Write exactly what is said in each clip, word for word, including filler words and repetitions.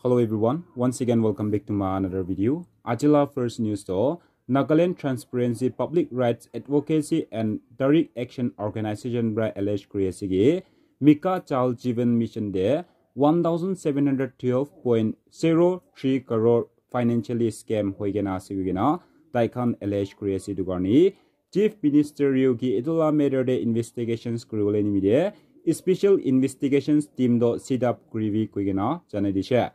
Hello everyone, once again welcome back to my another video. Ajila first news to Nagaland Transparency Public Rights Advocacy and Direct Action Organization bra allege kuri ase ki Mika Jal Jeevan Mission de one thousand seven hundred twelve point zero three crore financially scam hoi kena ase koi kena tai khan allege kuri ase. Etu karne Chief Minister Yogi etu la matter de investigations kuri bole nimide special investigations team do set up kuri bi koi kena janai dishe.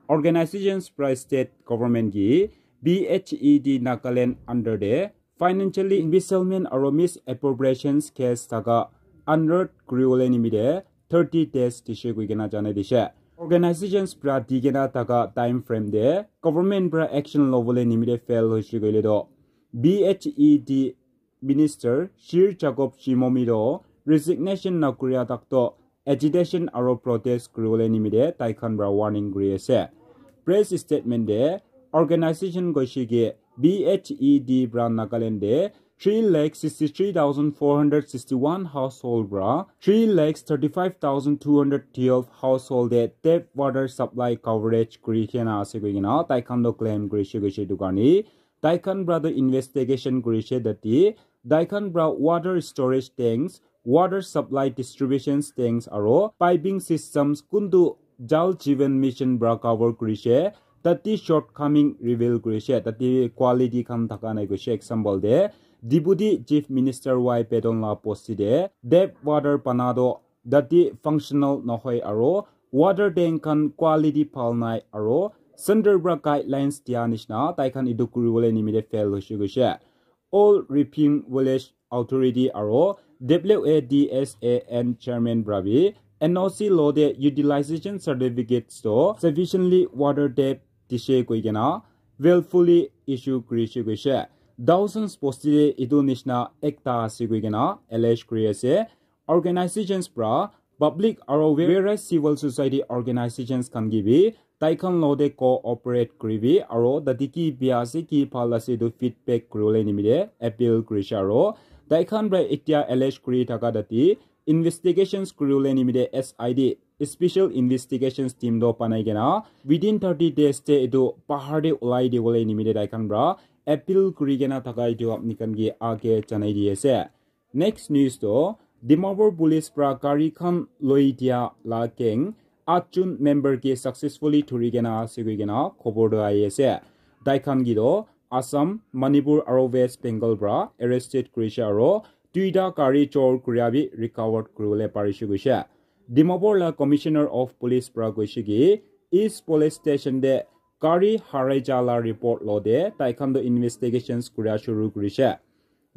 Organizations pra state government ki B H E D Nagaland under de financially embezzlement aro misappropriations case taka unearth kuri bole nimide thirty days dishe koi kena janai dishe. Organizations pra di kena taka time frame de government pra action lo bole nimide fail hoishe koile do B H E D Minister Shir Jacob Shimomi do resignation na kuria tak to agitation aro protest kuri bole nimide tai khan pra warning kuri ase. Press statement de organization goishe ki B H E D pra Nagaland de three lakh sixty three thousand four hundred sixty one household pra three lakh thirty five thousand two hundred twelve household de tap water supply coverage kuri kena ase koi kena tai khan do claim kurishe goishe etu karne tai khan pra do investigation kurishe tate tai khan pra water storage tanks, water supply distribution tanks aro piping systems kuntu Jal Jeevan Mission pra cover kurishe tate shortcoming reveal kurishe, tate quality khan thaka nai koishe. Example de Deputy Chief Minister Y Pedon la posti de tap water pana do tate functional nohoi aro water tank khan quality bhal nai aro center pra guidelines dia nishina tai khan etu kuri bole nimide fail hoishe goishe. All Ripim Village Authority aro W A D S A N chairman pra bi N O C lo de utilization certificates to sufficiently water tap dishe koi kena willfully issue kurishe goishe. Thousands posti de etu nishina ekta ase koi kena allege kuri ase. Organizations pra public aro various civil society organizations khan ki bi tai khan lo de cooperate kuri bi aro tate ki bia ase ki bhal ase etu feedback kuri bole nimide appeal kurishe aro tai khan pra etia allege kuri thaka tate investigations kuri bole nimide S I D special investigations team do banai kena within thirty days te etu bahar de ulai di bole nimide tai khan pra appeal kuri kena thaka etu apni khan ki age janai di ase. Next news to Dimapur Police pra gari khan loi dia la gang atjon member ke successfully thuri kena ase koi kena khobor do ahi ase. Tai khan ki do Assam, Manipur aro West Bengal pra arrested kurishe aro duita gari chor kuria bi recovered kuri bole parishe goishe. Dimapur la Commissioner of Police pra goishe ki East Police Station de gari harai ja la report lo de tai khan do investigations kuria shuru kurishe.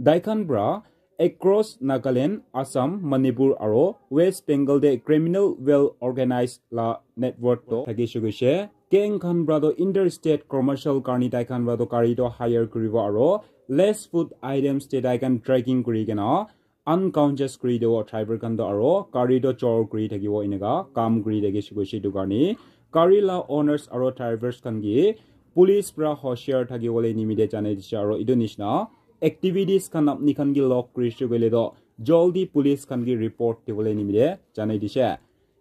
Tai khan pra across Nagaland, Assam, Manipur aro West Bengal de criminal well organized la network to thakishe goishe. Gang khan pra to interstate commercial karni tai khan pra to gari to hire kuribo aro less food items te tai khan tracking kuri kena unconscious kuri dibo driver khan to aro gari to chor kuri thakibo enika kam kuri thakishe goishe etu karni gari la owners aro drivers khan ki police pra hoshiar thaki bole nimide janai dishe aro etu nishina activities khan apni khan ki log kurishe koile to jaldi police khan ki report dibole nimide janai dishe.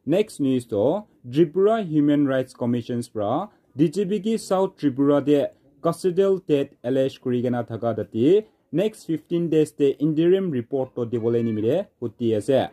Next news to Tripura Human Rights Commissions pra D G P ki South Tripura de custodial death allege kuri kena thaka tate next fifteen days te interim report to dibole nimide huti ase.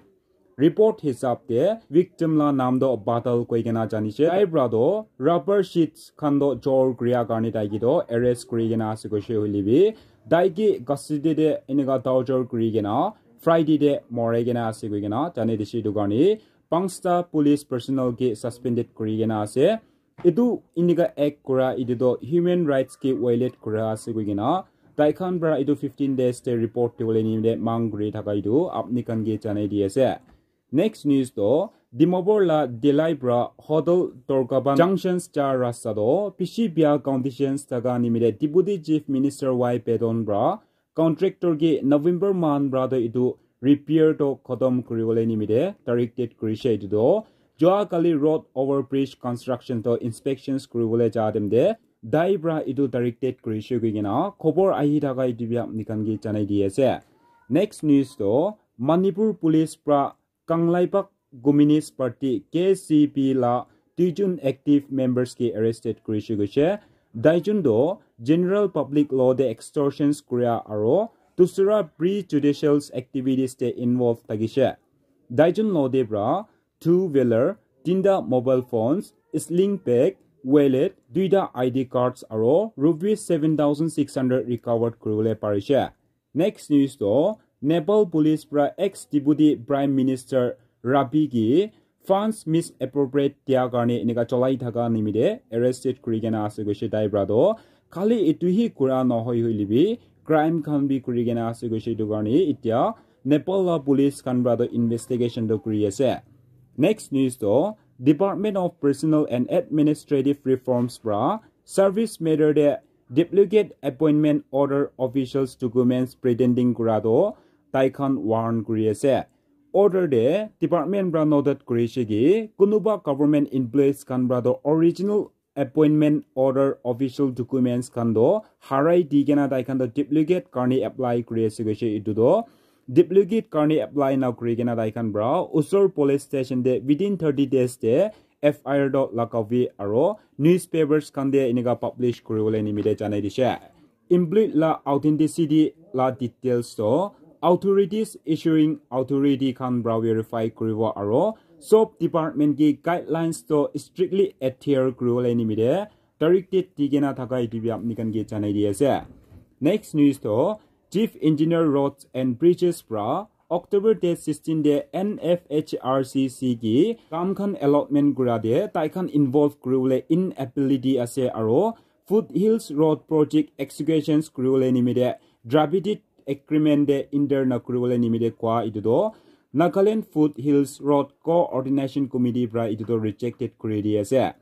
Report hisab te victim la naam do Badal koi kena janishe. Tai pra do rubber sheets khan do chor kuria karni tai ki do arrest kuri kena ase koishe hoile bi tai ki custody de enika torture kuri kena Friday de morai kena ase koi kena janai dishe etu karni panchta police personnel ki suspended kuri kena ase. Etu enika act kura etu to human rights ki violate kura ase koi kena tai khan pra etu fifteen days te report dibole nimide mang kuri thaka etu apni khan ki janai di ase. Next news to Dimapur la Delai pra Hotel Torkaban junctions ja rasta to bishi bia conditions thaka nimide Deputy Chief Minister Y Pedon pra contractor ki November month pra to etu repair to khotom kuri bole nimide directed kurishe etu to jua kali road overbridge construction to inspections kuri bole ja time de tai pra etu directed kurishe koi kena khobor ahi thaka etu bi apni khan ki janai di ase. Next news to Manipur Police pra Kangleipak Communist Party K C P la duijon active members ke arrested kurishe koishe. Duijon toh general public law te extortions kuria aro dusra prejudicial activities te involved thakishe. Duijon logote pra two wheeler, tinta mobile phones, sling bag, wallet, duita I D cards aro rupees seven thousand six hundred recovered kuribole parishe. Next news toh Nepal police pra ex deputy prime minister Rabi ki funds misappropriate dia karne enika cholai thaka nimite arrested kuri kena ase koishe tai pra toh. Khali etu hi kura nohoi hoile bi crime khan bi kuri kena ase koishe etu karne etia Nepal la police khan pra toh investigation toh kuri ase. Next news toh Department of Personal and Administrative Reforms pra service matter te duplicate appointment order officials documents pretending kura toh tai khan warn kuri ase. Order te department pra noted kurishe ki kunuba government employees khan pra toh original appointment order official documents khan toh harai di kena tai khan toh duplicate karne apply kuri ase koishe etu toh duplicate karne apply na kuri kena tai khan pra usor police station te within thirty days te F I R toh lagabi aro newspapers khan te enika publish kuribole nimite janai dishe. Employee la authenticity la details toh authorities issuing authority khan pra verify kuribo aro sob department ki guidelines toh strictly adhere kuribole nimite directed di kena thaka etu bi apni khan ke janai di ase. Next news toh Chief Engineer Roads and Bridges pra October date sixteen te N F H R C C ki kam khan allotment kura te tai khan involve kuribole inability ase aro Foothills Road Project executions kuribole nimite tripartite agreement te enter na kuribole nimite koa etu toh Nagaland Foothills Road Coordination Committee pra etu toh rejected kuri di ase.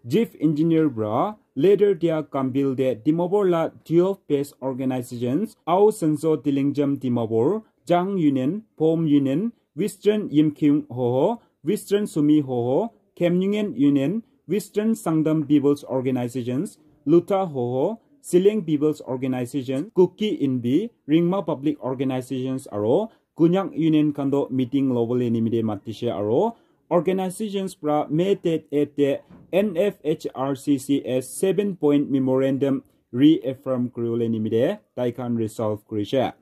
Chief Engineer pra letter dia kam bill te Dimapur la twelve base organizations, Ao Sanso Tilingjam Dimapur, Jang Union, Pom Union, Western Yimkhiung Hoho, Western Sumi Hoho, Khemnyungen Union, Western Sangtam People's Organizations, Luta Hoho, Sileng People's Organization, Kuki Inbi, Ringma Public Organizations aro Konyak Union khan toh meeting lobole nimite matishe aro organizations pra May date eight te N F H R C C S seven point memorandum reaffirm kuribole nimite tai khan resolve kurishe.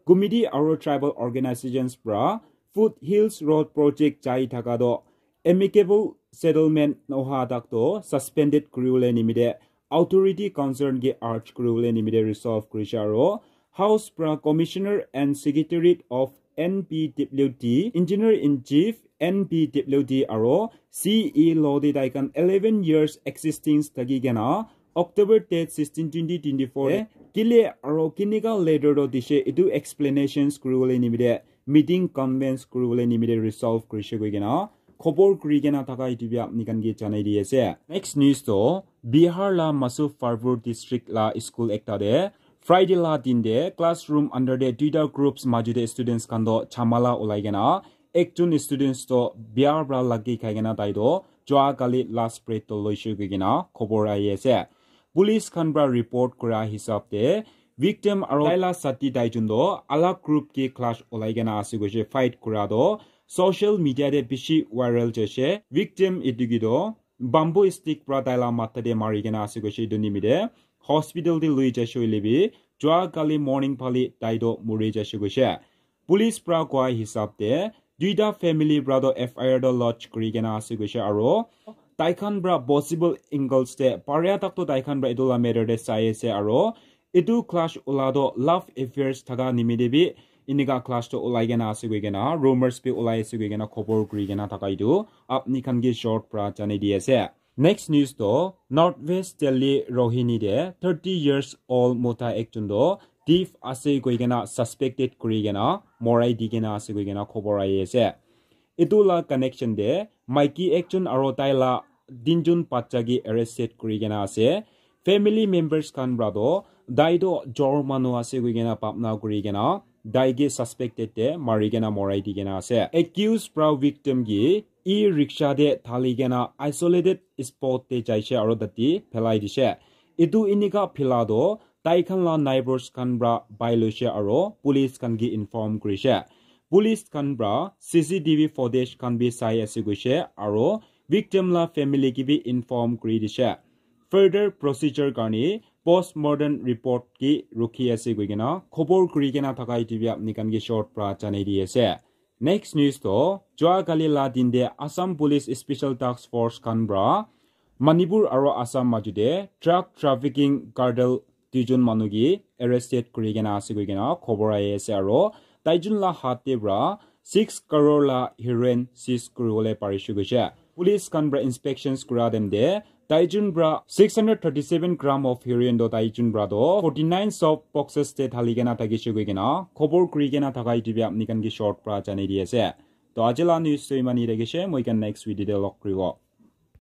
Committee aro tribal organizations pra Foothills Road Project jai thaka toh amicable settlement noha tak toh suspended kuribole nimite authority concern ke urge kuribole nimite resolve kurishe aro House pra Commissioner and Secretariat of N P W D, Engineer in Chief N P W D aro C E logote tai khan eleven years existence thaki kena October date sixteen twenty twenty-four te kile aro kinika letter toh dishe etu explanations kuribole nimite meeting convince kuribole nimite resolve kurishe koi kena khobor kuri kena thaka etu bi apni khan ke janai di ase. Next news toh Bihar la Masu Pharpur district la school ekta te Friday la din te classroom under te duita groups maju te students khan toh chamala ulai kena ekjon students toh biar pra lagi khai kena tai toh jua kali last breath toh loishe koi kena khobor ahi ase. Police khan pra report kura hisab te victim aro tai la sati tai jun toh alag group ke clash ulai kena ase koishe fight kura toh social media te bishi viral jaishe. Victim etu ki toh bamboo stick pra tai la matha te mari kena ase koishe etu nimite hospital te lui jaishe hoile bi jua kali morning phale tai toh muri jaishe koishe. Police pra koa hisab te duita family pra toh F I R toh lodge kuri kena ase koishe aro tai khan pra possible angles te paria tak toh tai khan pra etu la matter te sai ase aro etu clash ula toh love affairs thaka nimite bi enika clash toh ulai kena ase koi kena rumors bi ulai ase koi kena khobor kuri kena thaka etu apni khan ke short pra janai di ase. Next news toh North West Delhi Rohini te thirty years old mota ekjon toh thief ase koi kena suspected kuri kena morai di kena ase koi kena khobor ahi ase. Etu la connection te maiki ekjon aro tai la tinjon bacha ke arrested kuri kena ase. Family members khan pra toh tai toh chor manu ase koi kena bhabna kuri kena tai ke suspected te mari kena morai di kena ase. Accused pra victim ke e-rickshaw te thali kena isolated spot te jaishe aro tate phelai dishe. Etu enika phela toh tai khan la neighbors khan pra pai loishe aro police khan ke inform kurishe. Police khan pra C C T V footage khan bi sai ase koishe aro victim la family ke bi inform kuri dishe. Further procedure karne postmortem report ke rukhi ase koi kena khobor kuri kena thaka etu bi apni khan ke short pra janai di ase. Next news to, jua kali la din de Assam Police Special Task Force khan pra Manipur aro Assam majo de drug trafficking cartel duijon manu ke arrested kuri kena ase koi kena khobor ahi ase aro taijun la hat te pra six crore la heroin seize kuri bole parishe koishe. Police khan pra inspections kura time te taijun pra six hundred thirty-seven gram of heroin to taijun pra to forty-nine soft boxes te thali kena thakishe koi kena khobor kuri kena thaka etu bi apni khan ke short pra janai di ase. To aji la news to iman hi thakishe, moi khan next video te log kuribo.